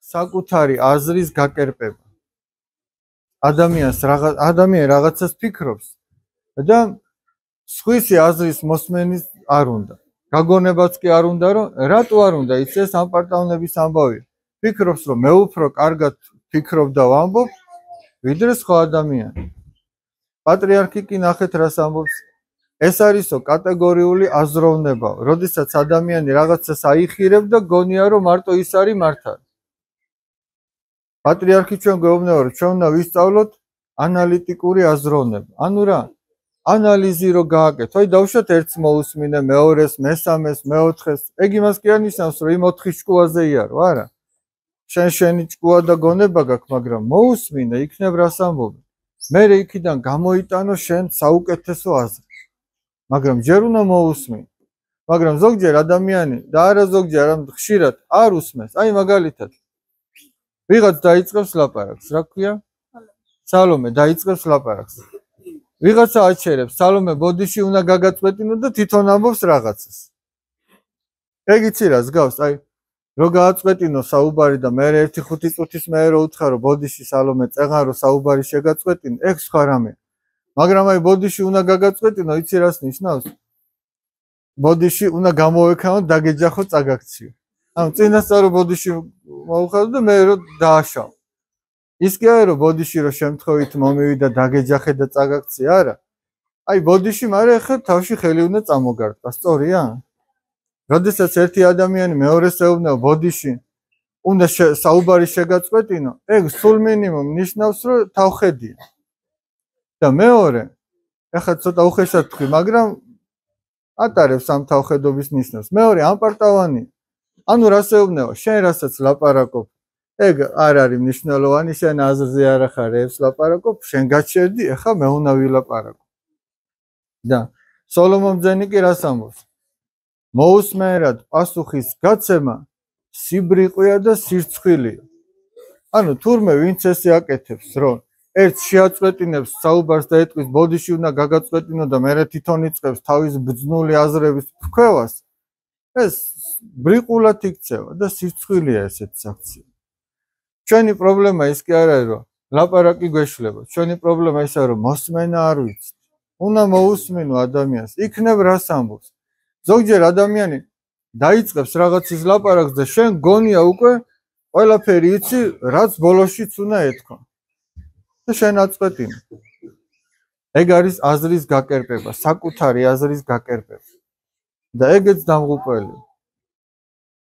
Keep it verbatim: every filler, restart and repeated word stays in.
საკუთარი აზრის გაკერპება. ადამიანს რაღაც ადამიანი რაღაცას ფიქრობს და სხვისი აზრის მოსმენის არ უნდა. გაგონებაც კი არ უნდა, რომ რატო არ უნდა იცი ეს ამპარტავნების ამბავი. ფიქრობს, რომ მე უფრო კარგად ფიქრობ და ვამბობ, ვიდრე სხვა ადამიანი. პატრიარქი კი ნახეთ რას ამბობს. ეს არისო კატეგორიული აზროვნება, როდესაც ადამიანი რაღაცას აიხირებს და გონია რომ მარტო ის არის მართალი. პატრიარქი ჩვენ გვეუბნება რომ ჩვენ უნდა ვისწავლოთ ანალიტიკური აზროვნება. ანუ რა? ანალიზი რო გააკეთო, აი დავუშვათ ერთს მოусმინე, მეორეს, მესამეს, მეოთხეს. ეგ იმას კი არ ნიშნავს რომ იმ ოთხის ჭკუაზე იარო, არა. შენ შენი ჭკუა და გონება გაქვს, მაგრამ მოусმინე, იქნებ რას ამბობ. მე იქიდან გამოიტანო შენ საუკეთესო აზრი. მაგრამ ჯერ უნდა მოусმინე. მაგრამ ზოგჯერ ადამიანი და არა ზოგჯერ, არამედ ხშირად არ უსმენს. აი მაგალითად ვიღაც დაიწყებს ლაპარაკს, რა ქვია? სალომე დაიწყებს ლაპარაკს. ვიღაცა აჩერებს, სალომე ბოდიში უნდა გაგაწყვეტინო და თვითონ ამბობს რაღაცას. ეგ იცი რას გავს? აი რო გააწყვეტინო საუბარი და მე ერთი ხუთი წუთის მერე რო უთხარო ბოდიში სალომე წეღან რო საუბარი შეგაწყვეტინო, ეგ სხვა რამე. მაგრამ აი ბოდიში უნდა გაგაწყვეტინო, იცი რას ნიშნავს? ბოდიში უნდა გამოვექანო, დაგეჯახო, წაგაქციო. ანუ წინასწარ ბოდიში მოვხადო და მე რო დააშავ. ის კი არა რომ ბოდიში რო შემთხვევით მომივიდა დაგეჯახე და წაგაქცი, არა. აი ბოდიში, მაგრამ ახლა თავში ხელი უნდა წამოგარტყა, სწორია? როდესაც ერთი ადამიანი მეორეს ეუბნება ბოდიში უნდა საუბარი შეგაწყვეტინო, ეგ სულ მინიმუმ ნიშნავს რომ თავხედია. და მეორე, ახლა ცოტა უხეშად თქვი, მაგრამ ატარებს ამ თავხედობის ნიშნავს. მეორე ამპარტავანი. ანუ რას ეუბნება? შენ რასაც ლაპარაკობ, ეგ არ არის მნიშვნელოვანი, შენ აზრზე არ ახარ ეს ლაპარაკობ, შენ გაჩერდი, ახლა მე უნდა ვილაპარაკო. და სოლომონ ბრძენი კი რას ამბობს? მოусმენად პასუხის გაცემა სიბრიყვია და სირცხვილია. ანუ თურმე ვინც ესე აკეთებს, რომ ერთ შეაწყვეტინებს საუბარს და ეტყვის ბოდიში უნდა გაგაწყვეტინო და მერე თვითონ იწყებს თავის ბრძნული აზრების ფქვევას, ეს ბრიყულად იქცევა და სირცხვილია ესეთ საქციო. ჩვენი პრობლემა ის კი არ არის, რომ ლაპარაკი გვეშლება. ჩვენი პრობლემა ისაა, რომ მოსმენა არ ვიცით. უნდა მოусმინო ადამიანს, იქნებ რას ამბობს. ზოგჯერ ადამიანი დაიწყებს რაღაცის ლაპარაკს და შენ გონია უკვე ყველაფერი იცი, რაც ბოლოშიც უნდა ეთქვა. და შენ აწყვეტინე. ეგ არის აზრის გაკერპება, საკუთარი აზრის გაკერპება. და ეგეც დამღუპველია.